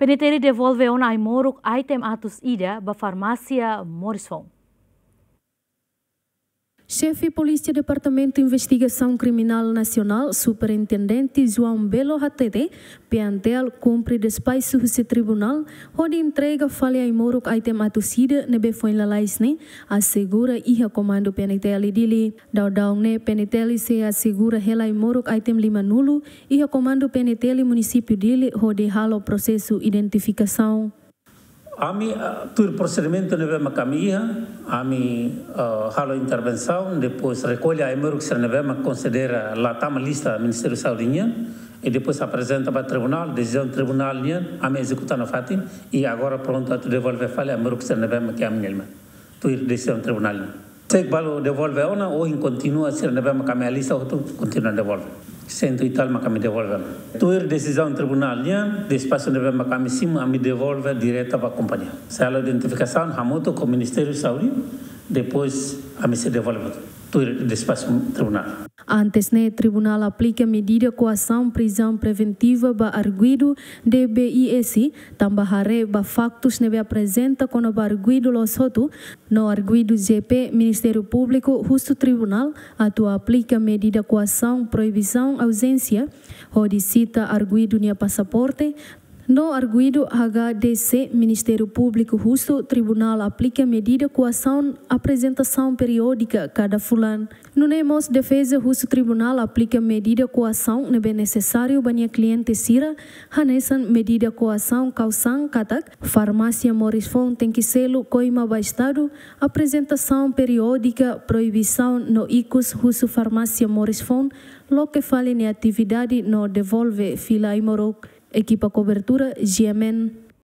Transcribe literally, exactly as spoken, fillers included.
PNTL devolve ona ai-moruk item atus ida ba farmásia Morrison. Xefe Polísia Departamentu Investigasaun Kriminál Nasionál, Superintendente João Belo hatete, PNTL kumpre despaxu husi tribunál, hodi entrega fali ai-moruk item atus ida ne'ebé foin lalais ne'e asegura iha Komandu PNTL Dili. Daudaun ne'e PNTL sei asegura hela ai-moruk item limanulu iha Komandu PNTL Munisípiu Dili hodi halo prosesu identifikasaun. Ami, ah, tuir prosedimentu ne'ebé mak ami iha, ami, ah, halo intervensaun, depois rekolla ai-moruk sira ne'ebé mak konsidera la tama lista Ministériu Saúde nian, i depois aprezenta ba tribunál, desizaun tribunál nian, ami ezekuta nafatin, i agora prontu atu devolve fali ai-moruk sira ne'ebé mak ami-nia liman. Tuir desizaun tribunál nian. Se balu devolve ona, ohin kontinua sira ne'ebé mak ami alista hotu kontinua devolve. Sentu i tal mak ami devolve ona. Tuir desizaun tribunál nian, despaxu ne'ebé mak ami simu, ami devolve direta ba kompañia. Sei halo identifikasaun hamutuk ho Ministériu Saúde, depois ami sei devolve hotu. Tuir despaxu tribunál. Antes ne'e, tribunál aplika medida koasaun prizaun preventiva ba arguidu D B I S, tanba haree ba faktus ne'ebé aprezenta kona-ba arguidu loos hotu, no arguidu J P Ministériu Públiku husu tribunál atu aplika medida koasaun proibisaun auzénsia, hodi sita arguidu nia pasaporte, no arguidu H D C Ministériu Públiku husu tribunál aplika medida koasaun aprezentasaun periódika kada fulan. Nune'e mós defeza husu tribunál aplika medida koasaun ne'ebé nesesáriu ba nia kliente sira, hanesan medida koasaun kausan katak farmásia Morrison tenke selu koima ba Estadu aprezentasaun periódika, proibisaun no ikus husu farmásia Morrison loke fali nia atividade no devolve fila ai-moruk. Ekipa kobertura G M N.